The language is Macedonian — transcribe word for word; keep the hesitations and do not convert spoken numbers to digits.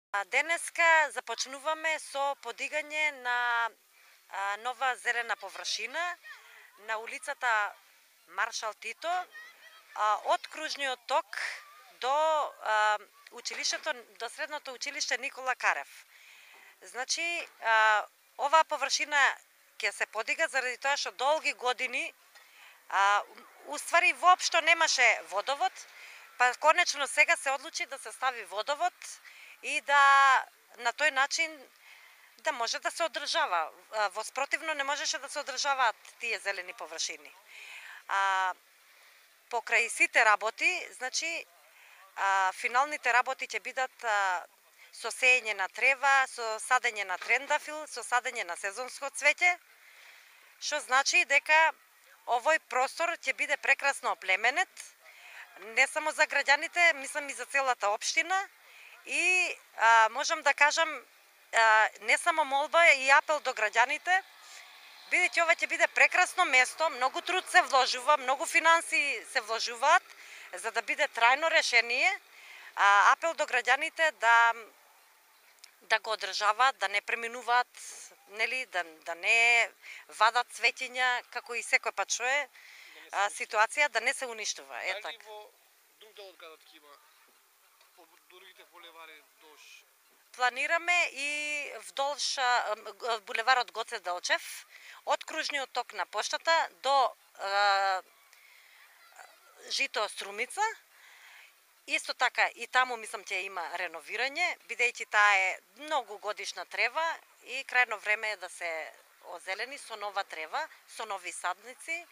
Денеска започнуваме со подигање на нова зелена површина на улицата Маршал Тито, од кружниот ток до училиштето, до средното училиште Никола Карев. Значи, оваа површина ќе се подига заради тоа што долги години уствари воопшто немаше водовод, па конечно сега се одлучи да се стави водовод и да на тој начин да може да се одржава. Во спротивно не можеше да се одржаваат тие зелени површини. А, покрај сите работи, значи, а, финалните работи ќе бидат а, со сеење на трева, со садење на трендафил, со садење на сезонско цвеќе, што значи дека овој простор ќе биде прекрасно оплеменет, не само за граѓаните, мислам и за целата општина. И а, можам да кажам а, не само молба и апел до граѓаните, бидејќи ова ќе биде прекрасно место, многу труд се вложува, многу финанси се вложуваат за да биде трајно решение. А, апел до граѓаните да да го одржаваат, да не преминуваат, нели, да, да не вадат цветиња, како и секој пат што е а, ситуација, да не се уништува. Е така. Дали во друг дел од градот ќе има по другите булевари долж? Планираме и вдолж булеварот Гоце Делчев, од кружниот ток на поштата до а, жито Струмица. Исто така и таму мислам ќе има реновирање, бидејќи таа е многу годишна трева и крајно време е да се озелени со нова трева, со нови садници.